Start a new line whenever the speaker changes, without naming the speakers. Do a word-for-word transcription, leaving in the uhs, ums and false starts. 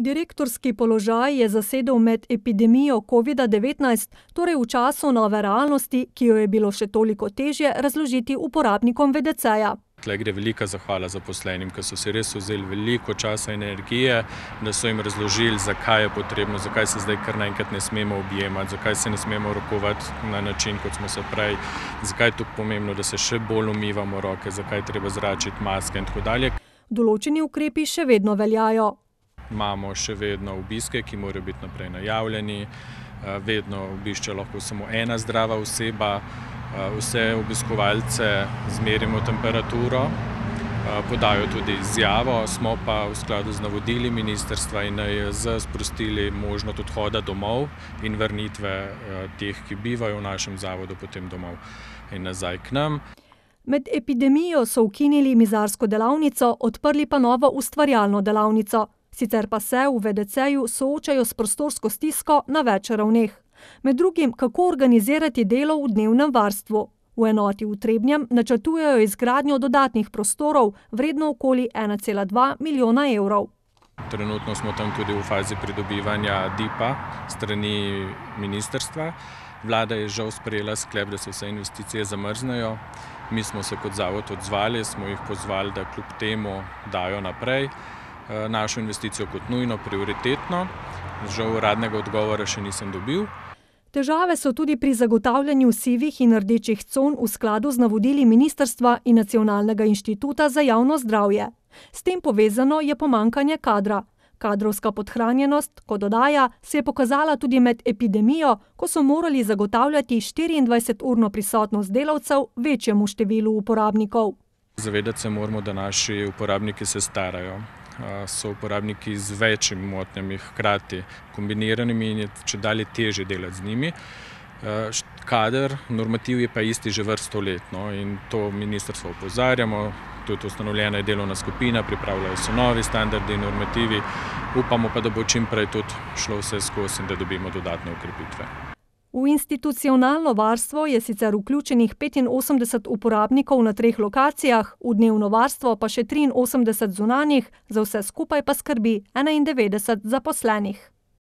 Direktorski položaj je zasedel med epidemijo covida devetnajst, torej v času nove realnosti, ki jo je bilo še toliko težje razložiti uporabnikom ve de ceja.
Tle gre velika zahvala zaposlenim, ki so si res vzeli veliko časa in energije, da so jim razložili, zakaj je potrebno, zakaj se zdaj kar naenkrat ne smemo objemati, zakaj se ne smemo rokovati na način, kot smo se prej, zakaj je to pomembno, da se še bolj umivamo roke, zakaj je treba zračiti maske in tako dalje.
Določeni ukrepi še vedno veljajo.
Imamo še vedno obiske, ki morajo biti naprej najavljeni, vedno obišče lahko samo ena zdrava oseba, vse obiskovalce zmerimo temperaturo, podajo tudi izjavo, smo pa v skladu z navodili ministrstva in en je ze sprostili možnost odhoda domov in vrnitve teh, ki bivajo v našem zavodu, potem domov in nazaj k nam.
Med epidemijo so ukinili mizarsko delavnico, odprli pa novo ustvarjalno delavnico. Sicer pa se v ve de ceju soočajo s prostorsko stisko na več ravneh. Med drugim, kako organizirati delo v dnevnem varstvu. V enoti v Trebnjem načrtujejo izgradnjo dodatnih prostorov, vredno okoli ena cela dva milijona evrov.
Trenutno smo tam tudi v fazi pridobivanja D I P-a strani ministrstva. Vlada je žal sprejela sklep, da se vse investicije zamrznejo. Mi smo se kot zavod odzvali, smo jih pozvali, da kljub temu dajo naprej našo investicijo kot nujno, prioritetno. Žal uradnega odgovora še nisem dobil.
Težave so tudi pri zagotavljanju sivih in rdečih con v skladu z navodili ministrstva in Nacionalnega inštituta za javno zdravje. S tem povezano je pomanjkanje kadra. Kadrovska podhranjenost, kot dodaja, se je pokazala tudi med epidemijo, ko so morali zagotavljati štiriindvajseturno prisotnost delavcev večjemu številu uporabnikov.
Zavedati se moramo, da naši uporabniki se starajo. So uporabniki z večjimi motnjami, hkrati kombiniranimi in je čedalje težje delati z njimi. Kader, normativ je pa isti že vrsto let, no, in to ministrstvo opozarjamo, tudi ustanovljena je delovna skupina, pripravljajo se novi standardi in normativi, upamo pa, da bo čim prej tudi šlo vse skozi in da dobimo dodatne ukrepitve.
V institucionalno varstvo je sicer vključenih petinosemdeset uporabnikov na treh lokacijah, v dnevno varstvo pa še triinosemdeset zunanjih, za vse skupaj pa skrbi enaindevetdeset zaposlenih.